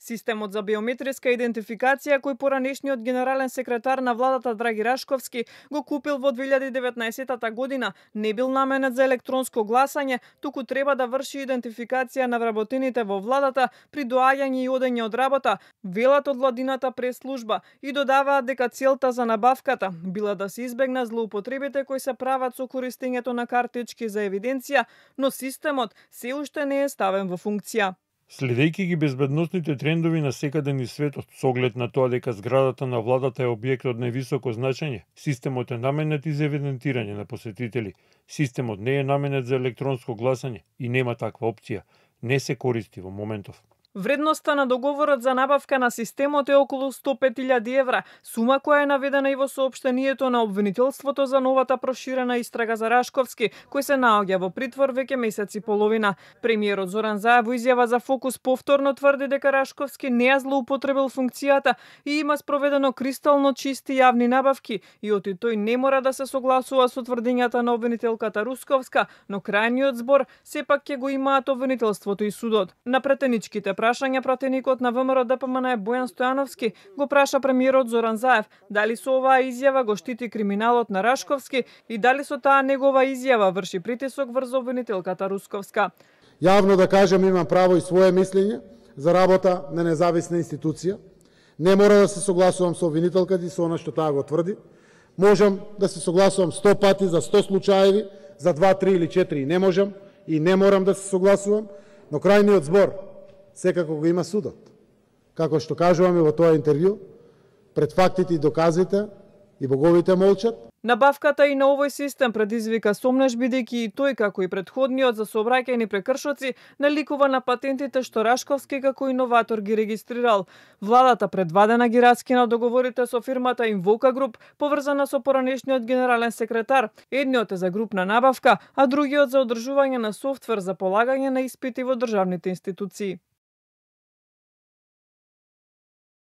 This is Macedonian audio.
Системот за биометриска идентификација кој поранешниот генерален секретар на владата Драги Рашковски го купил во 2019 година не бил наменет за електронско гласање, туку треба да врши идентификација на вработените во владата при доаѓање и одење од работа, велат од владината прес-служба и додаваат дека целта за набавката била да се избегнат злоупотребите кои се прават со користењето на картички за евиденција, но системот се уште не е ставен во функција. Следејќи ги безбедносните трендови на секаде низ светот, со оглед на тоа дека зградата на владата е објект од највисоко значење, системот е наменет и за евидентирање на посетители. Системот не е наменет за електронско гласање и нема таква опција. Не се користи во моментов. Вредноста на договорот за набавка на системот е околу 105.000 евра, сума која е наведена и во соопштението на обвинителството за новата проширена истрага за Рашковски, кој се наоѓа во притвор веќе месец и половина. Премиерот Зоран Заев во изјава за Фокус повторно тврди дека Рашковски не ја злоупотребил функцијата и има спроведено кристално чисти јавни набавки и оти тој не мора да се согласува со тврдењата на обвинителката Русковска, но крајниот збор сепак ќе го имаат обвинителството и судот. На претеничките прашања пратеникот на ВМРО-ДПМН Бојан Стојановски го праша премиерот Зоран Заев дали со оваа изјава го штити криминалот на Рашковски и дали со таа негова изјава врши притисок врз обвинителката Русковска. Јавно да кажам, имам право и свое мислење за работа на независна институција. Не мора да се согласувам со обвинителката и со она што таа го тврди. Можам да се согласувам 100 пати за 100 случаеви, за 2, 3 или 4 не можам и не морам да се согласувам, но крајниот збор секако го има судот. Како што кажуваме во тоа интервју, пред фактите и доказите и боговите молчат. Набавката и на овој систем предизвика сомнеш бидејќи и тој како и претходниот за сообраќајни прекршоци наликува на патентите што Рашковски како иноватор ги регистрирал. Владата предвадена ги раскина договорите со фирмата Invoca Group, поврзана со поранешниот генерален секретар. Едниот е за групна набавка, а другиот за одржување на софтвер за полагање на испити во државните институции.